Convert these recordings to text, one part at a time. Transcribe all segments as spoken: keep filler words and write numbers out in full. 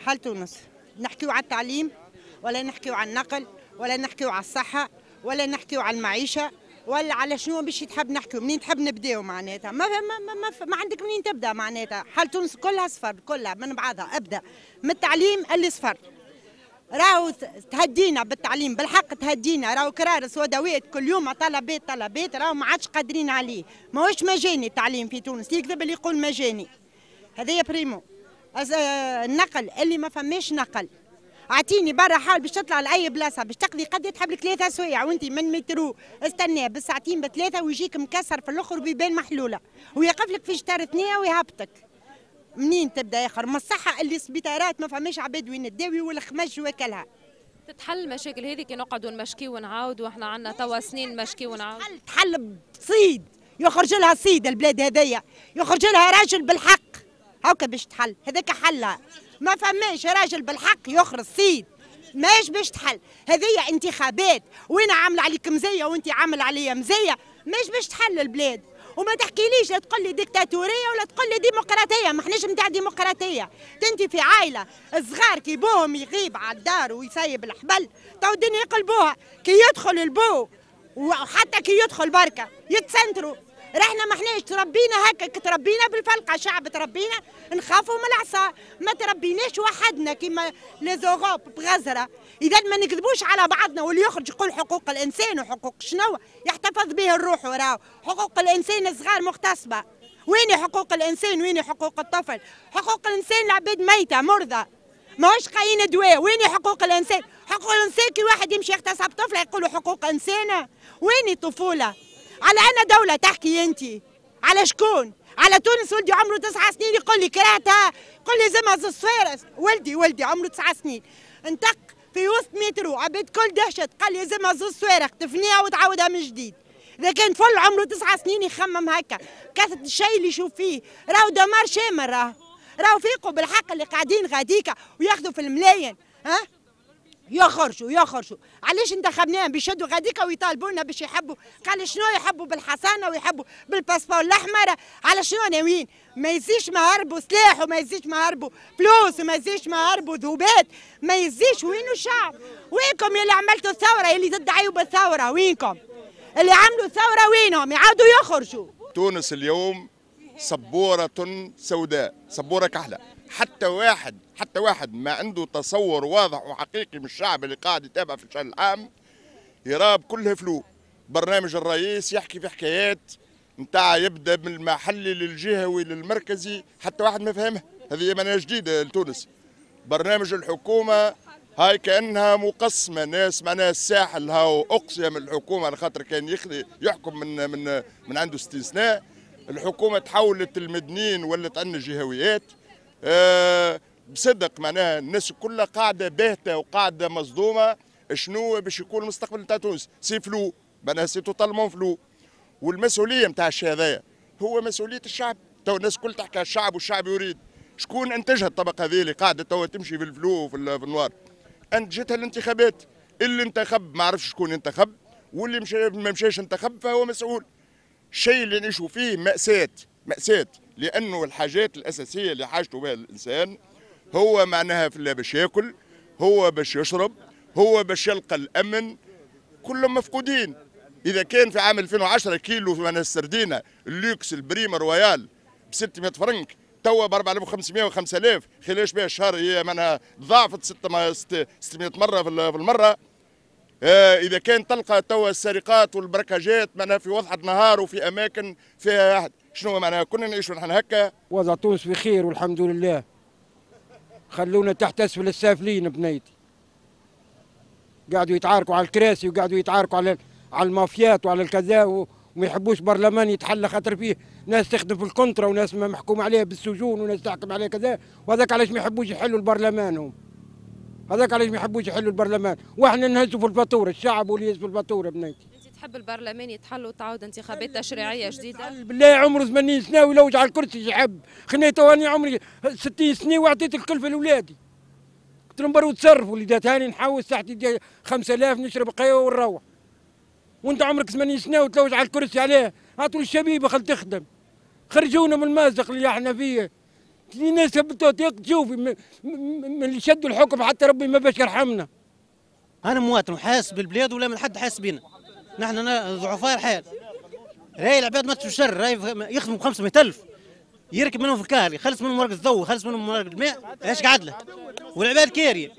حال تونس نحكيو على التعليم ولا نحكيو على النقل ولا نحكيو على الصحة ولا نحكيو على المعيشة ولا على شنو باش تحب نحكيو؟ منين تحب نبداو معناتها؟ ما ما ما, ما, ما عندك منين تبدا معناتها. حال تونس كلها صفر، كلها من بعضها. ابدا من التعليم اللي صفر، راهو تهدينا بالتعليم بالحق، تهدينا. راهو كرارس ودوات كل يوم طلبات طلبات، راهو ما عادش قادرين عليه. ماهوش مجاني التعليم في تونس، يكذب اللي يقول مجاني. هذايا primo. النقل اللي ما فماش نقل، اعطيني برا حال باش تطلع لاي بلاصة باش تقضي قد تحب لك ثلاثة سوايع وانت من مترو استناه بالساعتين بثلاثة ويجيك مكسر في الاخر وبيبان محلولة ويقف لك في شطر ثنيه ويهبطك. منين تبدا اخر؟ ما الصحة اللي سبيطارات ما فماش عباد وين تداوي والخمج وكلها. تتحل المشاكل هذه كي نقعدوا نمشكي ونعاود، واحنا عندنا توا سنين نمشكي ونعاود. تحل تحل بصيد، يخرج لها صيد البلاد هذيا، يخرج لها راجل بالحق هاكا باش تحل، هذاك حلها. ما فماش راجل بالحق يخرج صيد ماش باش تحل. هذه انتخابات وانا عامله عليك مزية وانت عامل عليا مزية، ماش باش تحل البلاد. وما تحكيليش لا تقول لي ديكتاتوريه ولا تقول لي ديمقراطية، ما احناش نتاع ديمقراطية. انت في عائلة الصغار كي بوهم يغيب على الدار ويسيب الحبل تو الدنيا يقلبوها، كي يدخل البو وحتى كي يدخل بركة يتسنتروا. رحنا ما احناش تربينا هكا، تربينا بالفلقه، شعب تربينا نخافوا من العصا، ما تربيناش وحدنا كيما les Europes بغزره. اذا ما نكذبوش على بعضنا، واللي يخرج يقول حقوق الانسان وحقوق شنو يحتفظ به الروح، وراهو حقوق الانسان الصغار مغتصبه. وين حقوق الانسان؟ وين حقوق الطفل؟ حقوق الانسان العباد ميته مرضى ماهوش قايين دواء. وين حقوق الانسان؟ حقوق الانسان كي واحد يمشي يغتصب طفله يقولوا حقوق انسان. وين الطفولة؟ على أنا دولة تحكي أنت؟ على شكون؟ على تونس؟ ولدي عمره تسعة سنين يقول لي كرهتها، يقول لي زعما الصفيرس. ولدي ولدي عمره تسعة سنين انطق في وسط مترو عباد كل دهشت، قال لي زعما زوز صواريخ تفنيها وتعاودها من جديد. إذا كان طفل عمره تسعة سنين يخمم هكا، كثرة الشيء اللي يشوف فيه، راهو دمار شامل. راهو راهو فيقوا بالحق اللي قاعدين غاديكا وياخذوا في الملايين، ها؟ يخرجوا يخرجوا. علاش انتخبناهم؟ بيشدوا غاديكا ويطالبونا باش يحبوا، قال شنو يحبوا بالحصانه ويحبوا بال passeport الاحمر، على شنو ناويين؟ ما يزيش ما هربوا سلاح وما يزيش ما هربوا فلوس وما يزيش ما هربوا ذوبات، ما يزيش. وينو الشعب؟ وينكم يا اللي عملتوا الثورة، اللي تدعيوا بالثورة؟ وينكم؟ اللي عملوا الثورة وينهم؟ يعاودوا يخرجوا. تونس اليوم سبورة سوداء، سبورة كحلة. حتى واحد حتى واحد ما عنده تصور واضح وحقيقي من الشعب اللي قاعد يتابع في الشأن العام يراه كلها flou. برنامج الرئيس يحكي في حكايات نتاع يبدا من المحلي للجهوي للمركزي، حتى واحد ما فهمها. هذه معناها جديدة لتونس. برنامج الحكومة هاي كانها مقسمة، ناس معناها الساحل هاو اقصي من الحكومة على خاطر كان يخلي يحكم من من من عنده ستين سنة. الحكومة تحولت المدنيين ولت عندنا جهويات. أه بصدق معناها الناس كلها قاعدة باهته وقاعدة مصدومة شنو باش يكون المستقبل نتاع تونس. c'est flou معناها c'est totalement flou. والمسؤولية نتاع الشيء هذايا هو مسؤولية الشعب. تو الناس الكل تحكي على الشعب والشعب يريد. شكون انتجها الطبقة هذه اللي قاعدة تو تمشي في ال flou وفي ال noir؟ انتجتها الانتخابات. اللي انتخب ما عرفش شكون انتخب، واللي مشى ما مشاش انتخب فهو مسؤول. الشيء اللي نعيشوا فيه مأساة مأساة، لأنه الحاجات الأساسية اللي حاجته بها الإنسان هو معناها في باش ياكل، هو باش يشرب، هو باش يلقى الأمن، كلهم مفقودين. إذا كان في عام ألفين وعشرة كيلو معناها السردينة ال luxe ال prime royale ب ستمائة فرنك، توا ب أربعة آلاف وخمسمائة و خمسة آلاف، خلال بها الشهر هي معناها ضاعفت ستمائة مرة في المرة. إذا كان تلقى توا السرقات والبركاجات معناها في وضحة نهار وفي أماكن فيها شنو معناها كنا نعيشوا نحن هكا. وضع تونس بخير والحمد لله. خلونا تحت أسفل السافلين بنيتي. قعدوا يتعاركوا على الكراسي وقعدوا يتعاركوا على على المافيات وعلى الكذا، وما يحبوش برلمان يتحلى خاطر فيه ناس تخدم في ال contrat وناس محكوم عليها بالسجون وناس تحكم عليها كذا، وهذاك علاش ما يحبوش يحلوا البرلمان هم. هذاك علاش ما يحبوش يحلوا البرلمان، واحنا نهزوا في الفاتورة، الشعب هو اللي يهز في الفاتورة بنيتي. انت تحب البرلمان يتحل وتعاود انتخابات تشريعية جديدة؟ بالله عمره ثمانين سنة ويلوج على الكرسي يحب، خليني تو انا عمري ستين سنة وعطيت الكلفة لاولادي. قلت لهم بروا تصرفوا، وليدات هاني نحوس تحت خمسة آلاف نشرب قهوة ونروح. وانت عمرك ثمانين سنة وتلوج على الكرسي عليه، هاتوا الشبيبة خل تخدم. خرجونا من المازق اللي احنا فيه. الناس تشوفي من اللي شدوا الحكم حتى ربي ما باش يرحمنا. انا مواطن وحاسس بالبلاد ولا من حد حاسس بينا. نحن ضعفاء الحال. راهي العباد ما تشر، راهي يخدموا ب خمسمية ألف يركب منهم في الكهرباء، يخلص منهم ورقة الضوء، يخلص منهم ورقة الماء، ايش قعد له؟ والعباد كارية.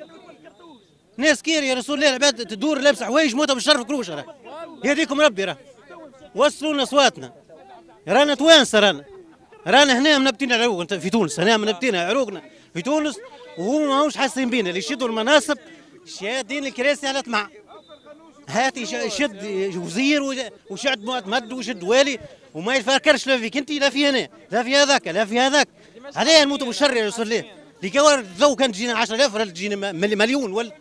ناس كارية يا رسول الله، العباد تدور لابسة حوايج موتة بالشر في كروش راه. يهديكم ربي راه. وصلوا لنا اصواتنا. رانا توانسة رانا. رانا هنا منبتين عروقنا في تونس، هنا منبتين عروقنا في تونس وهم ماهوش حاسين بينا، اللي يشدوا المناصب شادين الكراسي على طمع. هات يشد وزير وشد معتمد ويشد والي وما يفكرش لا فيك انت لا في انا لا في هذاك لا في هذاك. علاه نموتوا بالشر يا رسول الله. اللي كوار الضوء كان تجينا عشرة آلاف ولا تجينا مليون ولا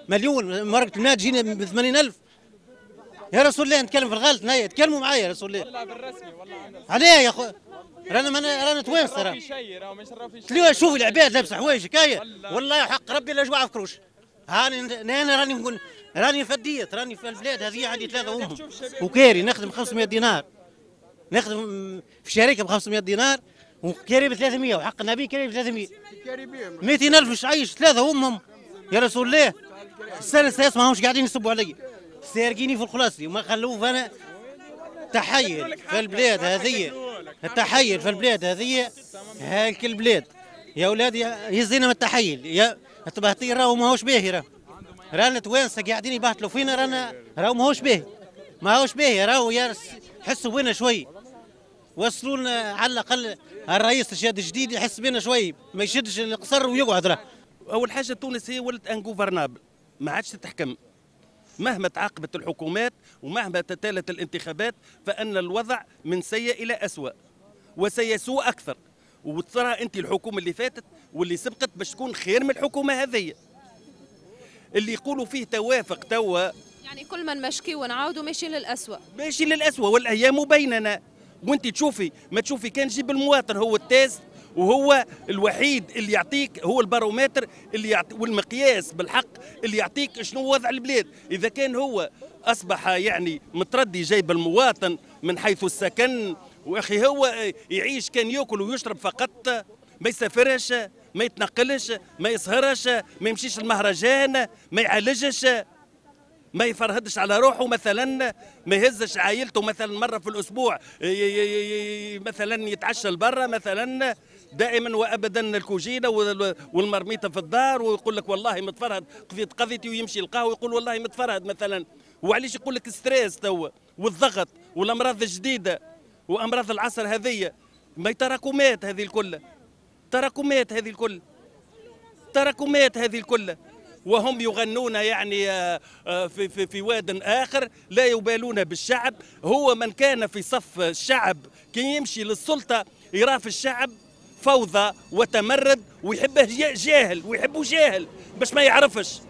مليون، مرقة الماء تجينا ب ثمانين ألف. يا رسول الله نتكلم في الغلط، تكلموا معايا يا رسول الله. والله بالرسمي والله علاه يا خو رانا رانا توانسة راه. شوف العباد لابسه حوايج هكايا والله حق ربي لا جوع في كروش. هاني انا راني نقول راني فديت، راني في البلاد هذه عندي ثلاثة امهم وكاري نخدم خمسمية دينار، نخدم في شركة ب خمسمية دينار وكاري ب ثلاثمية وحق النبي كاري ب ثلاثمية. مئتين ألف مش عايش ثلاثة امهم يا رسول الله. السنة السادسة ماهمش قاعدين يصبوا علي، سارقيني في الخلاصي وما خلوه. انا تحيل في البلاد هذه، التحيل في البلاد هذه هاك البلاد يا اولادي يزينا من التحيل يا التبهطير، راهو ماهوش باهي. راهو رانا توانسة قاعدين يبهتلوا فينا، رانا راهو ماهوش باهي، ماهوش باهي راهو. يا حسوا بينا شوي، وصلوا لنا على الاقل الرئيس الشاد الجديد يحس بينا شوي، ما يشدش القصر ويقعد. راه اول حاجة تونس هي ولت ingouvernable، ما عادش تتحكم. مهما تعاقبت الحكومات ومهما تتالت الانتخابات فان الوضع من سيء الى اسوأ وسيسوء اكثر. وترى انت الحكومة اللي فاتت واللي سبقت باش تكون خير من الحكومة هذه اللي يقولوا فيه توافق توا. يعني كل ما نمشكي ونعاودوا ماشيين للأسوأ، ماشي للأسوأ والايام بيننا. وانت تشوفي ما تشوفي كان جيب المواطن هو ال test وهو الوحيد اللي يعطيك، هو البارومتر اللي يعطي والمقياس بالحق اللي يعطيك شنو وضع البلاد. اذا كان هو اصبح يعني متردي جايب المواطن من حيث السكن، واخي هو يعيش كان ياكل ويشرب فقط، ما يسافرش، ما يتنقلش، ما يسهرش، ما يمشيش المهرجان، ما يعالجش، ما يفرهدش على روحه مثلا، ما يهزش عائلته مثلا مرة في الاسبوع مثلا يتعشى لبرا مثلا، دائما وابدا الكوجينه والمرميطه في الدار، ويقول لك والله متفرهد قضيت قضيتي، ويمشي القهوة ويقول والله متفرهد مثلا. وعلاش يقول لك stress توا والضغط والامراض الجديدة وامراض العصر هذية، ما تراكمات هذه الكل، تراكمات هذه الكل، تراكمات هذه الكل. وهم يغنون يعني في في في واد اخر، لا يبالون بالشعب. هو من كان في صف الشعب كي يمشي للسلطة يرى في الشعب فوضى وتمرد، ويحبه جاهل ويحبه جاهل باش ما يعرفش.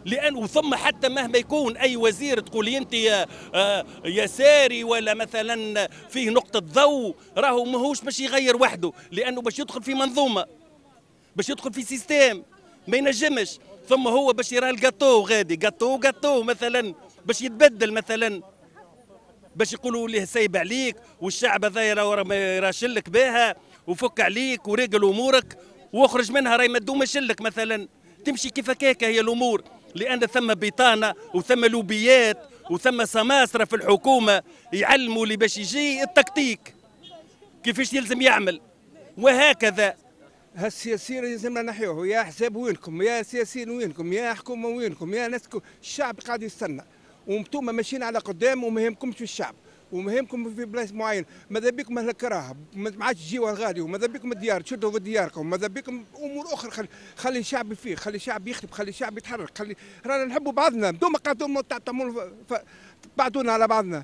لأن وثم حتى مهما يكون أي وزير تقولي أنت يا يساري ولا مثلا فيه نقطة ضوء، راهو ماهوش باش يغير وحده، لأنه باش يدخل في منظومة، باش يدخل في système ما ينجمش. ثم هو باش يرى الجاتو غادي gâteau gâteau مثلا باش يتبدل مثلا، باش يقولوا ليه سايب عليك والشعب هذا راه ما يراشلك بها وفك عليك ورجل امورك واخرج منها، راهي ما تدومش لك مثلا. تمشي كيف هكاك هي الامور، لان ثم بطانه وثم لوبيات وثم سماسره في الحكومة يعلموا اللي باش يجي التكتيك كيفاش يلزم يعمل وهكذا. هالسياسيين لازمنا نحيوه، يا حساب وينكم، يا سياسيين وينكم، يا حكومة وينكم، يا ناس. الشعب قاعد يستنى وانتم ماشيين على قدام وما يهمكمش في الشعب وما يهمكم في بلايص معين. ماذا بكم اهل الكراهة ما عادش تجيو الغالي، وماذا بكم الديار تشدوا في دياركم، ماذا بكم امور اخرى. خلي, خلي الشعب فيه، خلي الشعب يخدم، خلي الشعب يتحرك، خلي رانا نحبوا بعضنا. انتم قاعدين تعملوا بعدونا على بعضنا.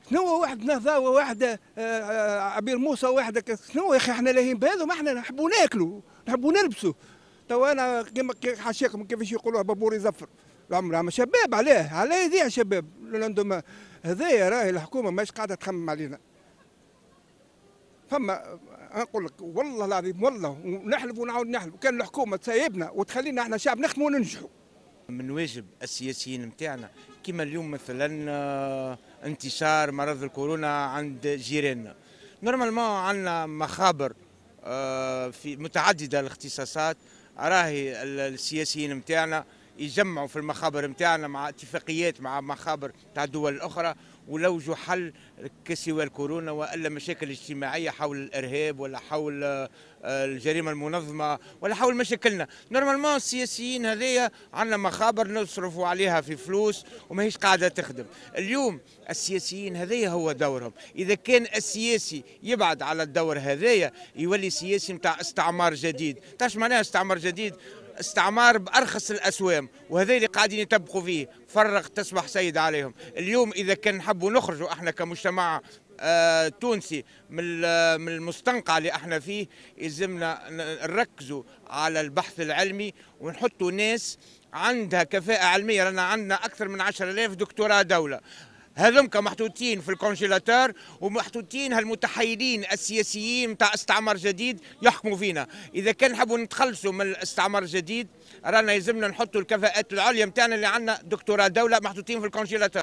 شنو واحد نهضة وواحد عبير موسى وواحد شنو يا اخي؟ احنا لاهين بهذا، ما احنا نحبوا ناكلوا نحبوا نلبسوا. تو انا كيما حاشاكم كيفاش يقولوها بابور يزفر العمر، ما شباب علاه علاه يضيع شباب. عندهم هذايا راهي الحكومة ماهيش قاعدة تخمم علينا. فما نقول لك والله العظيم والله ونحلف ونعاود نحلف، كان الحكومة تسيبنا وتخلينا احنا شعب نخدموا وننجحوا. من واجب السياسيين نتاعنا كما اليوم مثلا انتشار مرض الكورونا عند جيراننا، normalement عندنا مخابر في متعددة الاختصاصات. راهي السياسيين نتاعنا يجمعوا في المخابر نتاعنا مع اتفاقيات مع مخابر تاع الدول الاخرى ولوجوا حل كسوى الكورونا والا مشاكل اجتماعية حول الارهاب ولا حول الجريمة المنظمة ولا حول مشاكلنا. normalement السياسيين هذيا عندنا مخابر نصرفوا عليها في فلوس وماهيش قاعدة تخدم. اليوم السياسيين هذيا هو دورهم، اذا كان السياسي يبعد على الدور هذايا يولي سياسي نتاع استعمار جديد. تعرف معناها استعمار جديد؟ استعمار بارخص الاسوام، وهذا اللي قاعدين يطبقوا فيه، فرغ تصبح سيد عليهم. اليوم اذا كان نحبوا نخرجوا احنا كمجتمع آه تونسي من من المستنقع اللي احنا فيه، يلزمنا نركزوا على البحث العلمي ونحطوا ناس عندها كفاءة علمية. رانا عندنا اكثر من عشرة آلاف دكتوراه دولة، هذوك محطوطين في ال congélateur ومحطوطين هالمتحيلين السياسيين نتاع استعمار جديد يحكموا فينا. اذا كان نحبوا نتخلصوا من الاستعمار الجديد رانا يلزمنا نحطوا الكفاءات العليا نتاعنا اللي عندنا دكتوراه دولة محطوطين في ال congélateur.